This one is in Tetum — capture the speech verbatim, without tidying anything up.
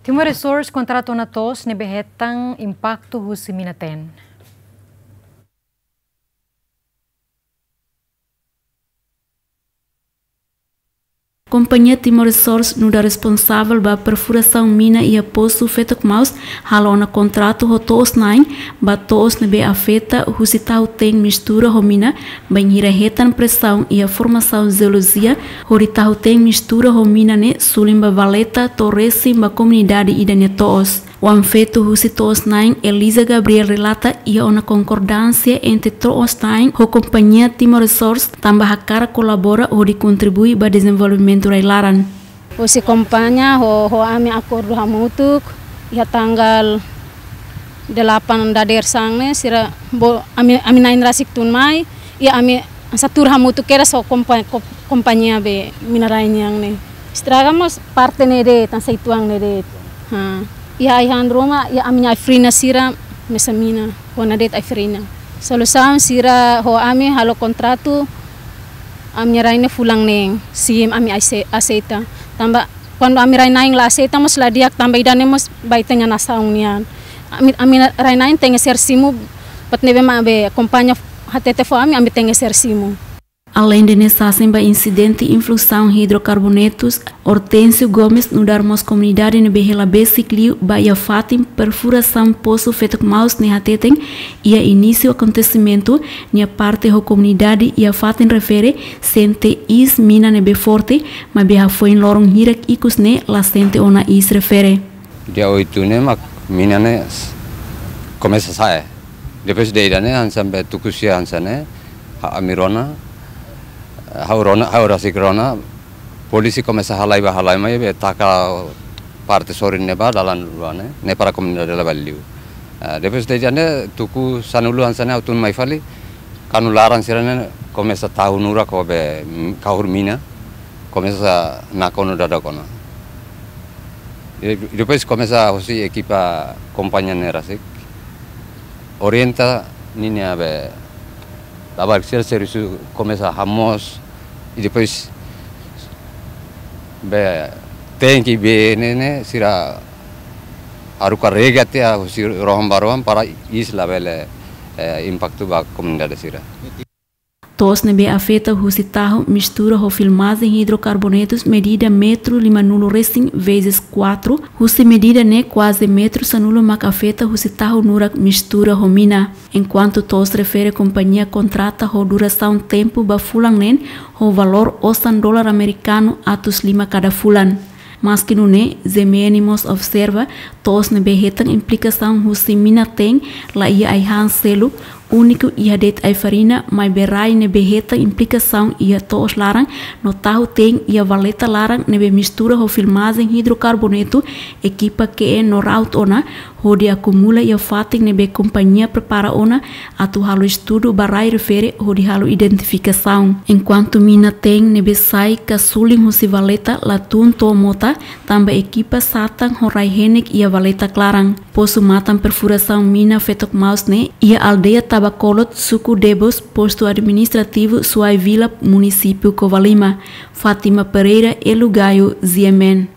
Timor Resources kontratu ona to'os ne'ebé hetan impaktu husi mina-teen. Kompañia Timor Resources nu'udar responsavel ba perfurasaun mina iha posu Fetok Maus halo ona kontratu ho to'os na'in ba to'os ne'ebé afeta husi tahu-teen mistura ho mina, bainhira hetan presaun iha formasaun jeolojia, hodi tahu-teen mistura ho mina ne'e suli ba valeta to'o resin ba komunidade ida-ne'e to'os. Oan-feto husi to'os na'in, Eliza Gabriel, relata iha ona konkordánsia entre to'os na'in ho kompañia Timor Resources, tanba hakarak kolabora hodi kontribui ba dezenvolvimentu rai-laran. Husi kompañia ho, ho ami akordu hamutuk, iha tanggal delapan dadeer-saan ne'e, sira bolu ami, ami na'in rasik tun mai, iha ami hanesan tuur hamutuk kedas ho kompa-, ko-, kompañia be mina rai nian ne'e. Estraga mós parte ne'e de'it, hanesan uitoan ne'e de'it. Ha. Iha ai-han ruma, iha ami-nia ai-frian sira mesak mina, kona de'it ai-frian. Solusaun sira ho ami halo kontratu, ami-nia rai-na'in fulan neen, simu ami aise-, aseita. Tanba, kuandu ami rai-na'in la aseita mós la di'ak, tanba ida-ne'e mós ba ita-nia nasaun nian. Ami, ami rai-na'in tenke ser simu, buat ne'ebé mak be kompañia hatete fó ami, ami tenke ser simu. Aleinde ne'e, sasin ba insidente influsaun hidrokarbonetus, Hortensio Gomes nu'udar mós komunidade ne'ebé hela besik liu ba iha fatin perfurasaun posu Fetok Maus ne'e hateten, iha inísiu akontesimentu, nia parte ho komunidade iha fatin refere sente iis mina ne'ebé forte, maibé hafoin loron hirak ikus ne'e la sente ona iis refere. Dia oitu ne'e mak mina ne'e s-, komesa sa'e. Depois de ida-ne'e hanesan be tuku sia hanesan ne'e, ha-, ami rona, ha'u rona, ha'u rasik rona, polísia komesa halai bá halai mai be taka parte sorin ne'ebá dalan rua ne'e, ne'e para komunidade la bá liu. Ah, depois de ida-ne'e tuku sanulu hanesan ne'e ha'u tun mai fali, kanu laran sira-ne'e komesa tahu nurak ho be, mm, kahur mina, komesa nakonu dada kona. E depois komesa husi ekipa kompañia ne'e rasik orienta ninia be labarik sira servisu komesa hamoos, e depois be tenke be ne'e ne'e sira haruka rega tiha husi rohan ba rohan para iis labele, eh, impaktu ba komunidade sira. To'os ne'ebé afeta husi tahu mistura ho filmajen hidrokarbonetus medida metru limanulu resin vezes kuatru, husi medida ne'e kuaze metru sanulu mak afeta husi tahu nurak mistura ho mina. Enkuantu to'os refere kompañia kontrata ho durasaun tempu ba fulan neen ho valór osan dolar amerikanu atus lima kada fulan. Maski nune'e, G M N mós observa, to'os ne'ebé hetan implikasaun husi mina-teen la iha ai-han seluk, úniku iha de'it ai-farina, maibé rai ne'ebé hetan implikasaun iha to'os laran no tahu-teen iha valeta laran ne'ebé mistura ho filmajen hidrokarbonetu, ekipa K N no raut ona, hodi akumula iha fatin ne'ebé kompañia prepara ona atu halo estudu ba rai refere hodi halo identifikasaun. Enkuantu mina-teen ne'ebé sai ka sulin husi valeta la tun to'o mota, tanba ekipa satan ho rai-henek iha valeta klaran. Posu matan perfurasaun mina Fetok Maus ne'e iha aldeia Tabakolot, suku Debos, postu administrativu Suai Vila, munisípiu Covalima. Fátima Pereira, Elu Gayo, G M N.